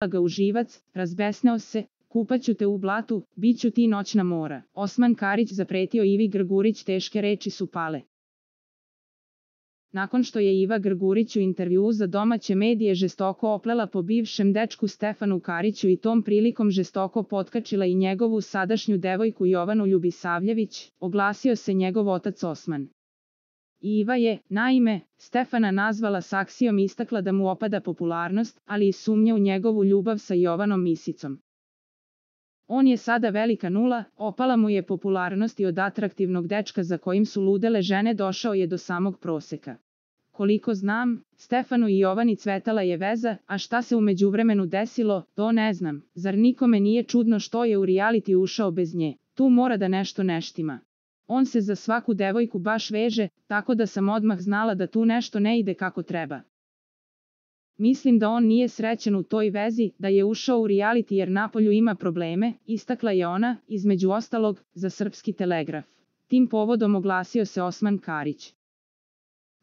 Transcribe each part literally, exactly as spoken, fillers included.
ga u živac, razbesneo se, kupaću te u blatu, bit ću ti noćna mora. Osman Karić zapretio Ivi Grgurić, teške reči su pale. Nakon što je Iva Grgurić u intervjuu za domaće medije žestoko oplela po bivšem dečku Stefanu Kariću i tom prilikom žestoko potkačila i njegovu sadašnju devojku Jovanu Ljubisavljević, oglasio se njegov otac Osman. Iva je, naime, Stefana nazvala saksijom i istakla da mu opada popularnost, ali i sumnja u njegovu ljubav sa Jovanom Misicom. On je sada velika nula, opala mu je popularnost i od atraktivnog dečka za kojim su ludele žene došao je do samog proseka. Koliko znam, Stefanu i Jovani cvetala je veza, a šta se u međuvremenu desilo, to ne znam. Zar nikome nije čudno što je u reality ušao bez nje? Tu mora da nešto ne štima. On se za svaku devojku baš veže, tako da sam odmah znala da tu nešto ne ide kako treba. Mislim da on nije srećan u toj vezi, da je ušao u reality jer napolju ima probleme, istakla je ona, između ostalog, za Srpski telegraf. Tim povodom oglasio se Osman Karić.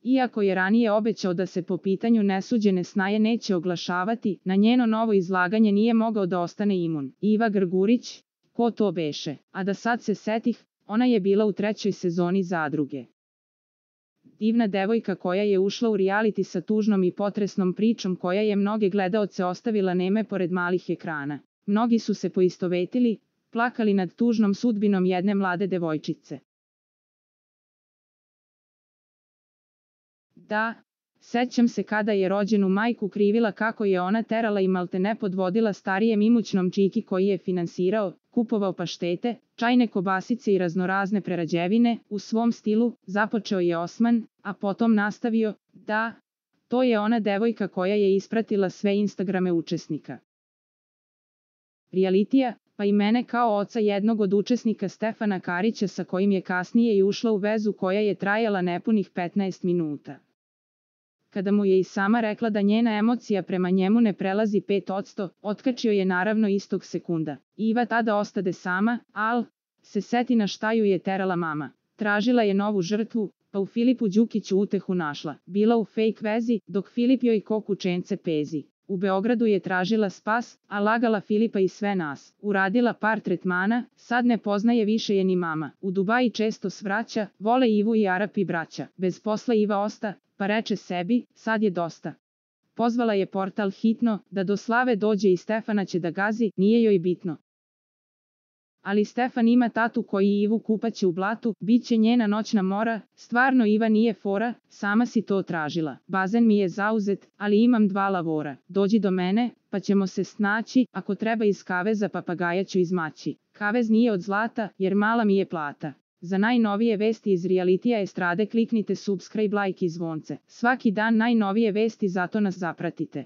Iako je ranije obećao da se po pitanju nesuđene snaje neće oglašavati, na njeno novo izlaganje nije mogao da ostane imun. Iva Grgurić, ko to beše? A da sad se setih, ona je bila u trećoj sezoni Zadruge. Divna devojka koja je ušla u reality sa tužnom i potresnom pričom koja je mnoge gledaoce ostavila neme pored malih ekrana. Mnogi su se poistovetili, plakali nad tužnom sudbinom jedne mlade devojčice. Da, sećam se kada je rođenu majku krivila kako je ona terala i maltene podvodila starijem imućnom čiki koji je finansirao, kupovao paštete, čajne kobasice i raznorazne prerađevine, u svom stilu, započeo je Osman, a potom nastavio, da, to je ona devojka koja je ispratila sve Instagrame učesnika realitija, pa i mene kao oca jednog od učesnika Stefana Karića sa kojim je kasnije i ušla u vezu koja je trajala nepunih petnaest minuta. Kada mu je i sama rekla da njena emocija prema njemu ne prelazi pet posto, otkačio je naravno istog sekunda. Iva tada ostade sama, al se seti na šta ju je terala mama. Tražila je novu žrtvu, pa u Filipu Đukiću utehu našla. Bila u fake vezi, dok Filip joj ko kučence pezi. U Beogradu je tražila spas, a lagala Filipa i sve nas. Uradila par tretmana, sad ne poznaje više je ni mama. U Dubaji često svraća, vole Ivu i Arapi braća. Bez posla Iva osta, pa reče sebi, sad je dosta. Pozvala je portal hitno, da do slave dođe i Stefana će da gazi, nije joj bitno. Ali Stefan ima tatu koji Ivu kupaće u blatu, bit će njena noćna mora, stvarno Iva nije fora, sama si to tražila. Bazen mi je zauzet, ali imam dva lavora. Dođi do mene, pa ćemo se snaći, ako treba iz kaveza papagaja ću izmaći. Kavez nije od zlata, jer mala mi je plata. Za najnovije vesti iz realitija estrade kliknite subscribe, like i zvonce. Svaki dan najnovije vesti, zato nas zapratite.